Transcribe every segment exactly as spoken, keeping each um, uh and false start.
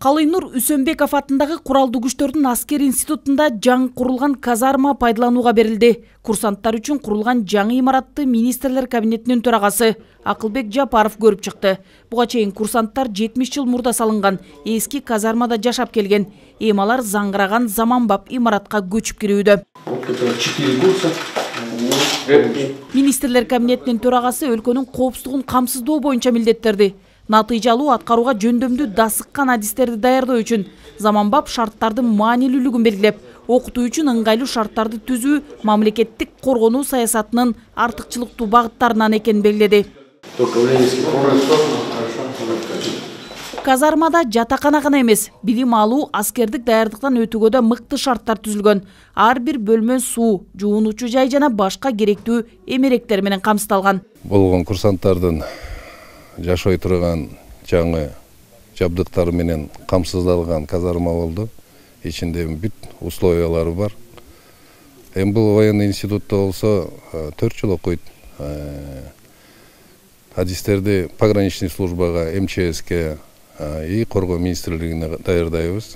Калыйнур Үсөнбеков атындагы куралдуу күчтөрдүн аскер институтунда жаңы курулган казарма пайдаланууга берилди. Курсанттар үчүн курулган жаңы имаратты министрлер кабинетинин төрагасы Акылбек Жапаров көрүп чыкты. Буга чейин курсанттар жетимиш жыл мурда салынган эски казармада жашап келген. Эми алар заңгыраган заманбап имаратка көчүп кирүүдө. Министрлер кабинетинин төрагасы өлкөнүн коопсуздугун камсыздоо боюнча милдеттерди. Натыйжалуу аткарууга жөндөмдүү дасыккан адистерди даярдоо үчүн заманбап шарттардын маанилүүлүгүн белгилеп, окутуу үчүн ыңгайлуу шарттарды түзүү мамлекеттик коргонуу саясатынын артыкчылыктуу багыттарынан экенин белгиледи. Казармада жатакана гана эмес, билим алуу, аскердик даярдыктан өтүүгө да мыкты шарттар түзүлгөн. Ар бир бөлмө суу, жуунуучу жай жана башка керектүү эмеректер менен камсыздалган. Болгон курсанттардын жашой турган жаңы жабдыктар менен камсыздалган казарма болду. Ичинде бүт условиялары бар. Эми бул военный институтта болсо төрт жыл окуйт. Адистерди пограничный службага, эм че эске и коргоо министрлигине даярдайбыз.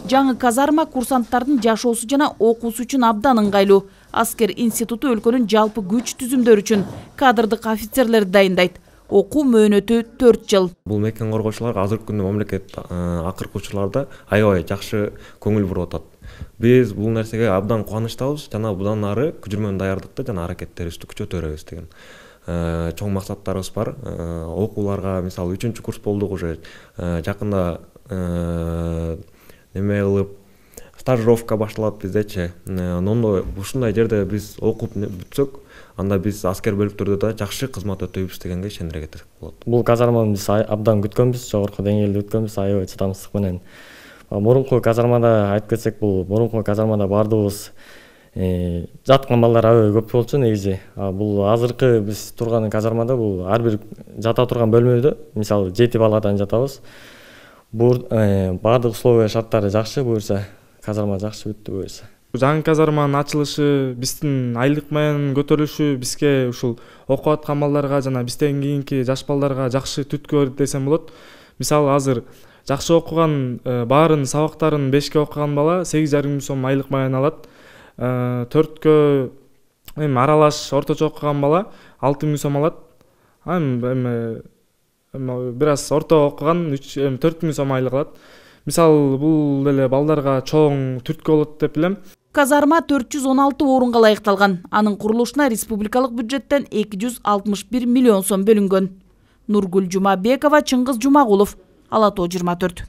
Жаңы казарма курсанттардын жашоосу жана окуусу үчүн абдан ыңгайлуу. Аскер институту өлкөнүн жалпы күч түзүмдөр үчүн кадрдык офицерлерди дайындайт. Окуу мөөнөтү төрт жыл. Бул мекен коргоочуларга азыркы күндө мамлекет акыркы учурларда аябай жакшы көңүл буруп атат. Биз бул нерсеге абдан кубанычтабыз жана будан ары күчүрмөн даярдыкты жана аракеттерибизди күчөтөрбүз деген чоң максаттарыбыз бар. Окууларга мисалы үчүнчү курс болдук уже жакында неме кылып стажировка башталат биздечи. Нондой ушундай жерде биз окуп бүтсөк, анда биз аскер бөлүктөрдө да жакшы кызмат өтөйбүз дегенге ишендире кетсек болот. Бул казарманы биз абдан күткөнбүз, жогорку деңгээлде күткөнбүз, аябай чыдамсыздык менен. Мурунку казармада айтып кетсек, бул мурунку казармада бардыгыбыз жаткан балдар аябай көп болчу негизи. Бул азыркы биз турган казармада бул ар бир жата турган бөлмөдө, мисалы жети баладан жатабыз. Бул бардык условия шарттары жакшы, буюрса казарма жакшы бүттү буюрса. Жаңы казарманын ачылышы, биздин айлык менен көтөрүлүшү бизге ушул окуп аткан балдарга жана бизден кийинки жаш балдарга жакшы түрткү берди десем болот. Мисалы азыр жакшы окуган, баарын сабактарын бешке окуган бала сегиз жарым миң сом айлык менен алат. төрткө эми аралаш орточо окуган бала алты миң сом алат. Эми бир аз орто окуган төрт миң сом айлык алат. Мисалы бул деле балдарга чоң түрткү болот деп билем. Казарма төрт жүз он алты орунга ылайыкталган. Анын курулушуна республикалык бюджеттен эки жүз алтымыш бир миллион сом бөлүнгөн. Нургүл Жумабекова, Чыңгыз Жумагулов, Ала Тоо жыйырма төрт.